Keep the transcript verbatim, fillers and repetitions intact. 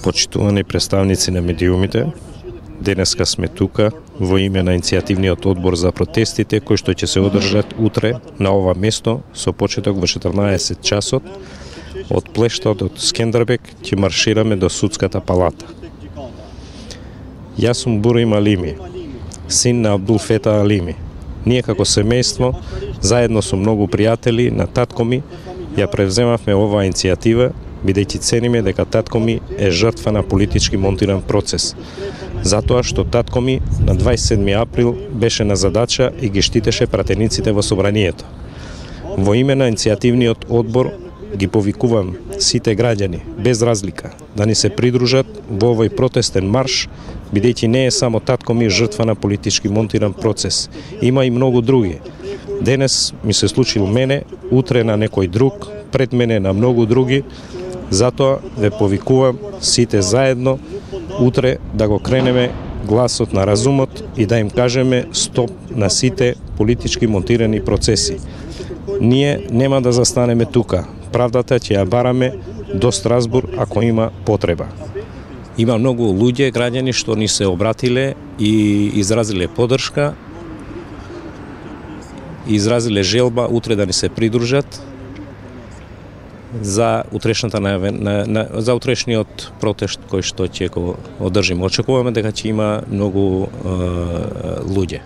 Почитувани представници на медиумите, денеска сме тука во име на иницијативниот одбор за протестите кои што ќе се одржат утре на ова место со почеток во четрнаесет часот. Од плештот од Скендербег ќе маршираме до Судската палата. Јас сум Бурим Алими, син на Абдул Фета Алими. Ние како семејство, заедно со многу пријатели на татко ми, ја превземавме оваа иницијатива, бидејќи цениме дека татко ми е жртва на политички монтиран процес. Затоа што татко ми на дваесет и седми април беше на задача и ги штитеше пратениците во собранието. Во име на иницијативниот одбор ги повикувам сите граѓани, без разлика, да ни се придружат во овој протестен марш, бидејќи не е само татко ми жртва на политички монтиран процес. Има и многу други. Денес ми се случило мене, утре на некој друг, пред мене на многу други. Затоа ве повикувам сите заедно утре да го кренеме гласот на разумот и да им кажеме стоп на сите политички монтирани процеси. Ние нема да застанеме тука. Правдата ќе ја бараме до Страсбург ако има потреба. Има многу луѓе, граѓани што ни се обратиле и изразиле подршка, изразиле желба утре да ни се придружат за утрешната на, на, на за утрешниот протест кој што ќе го одржиме. Очекуваме дека ќе има многу е, луѓе.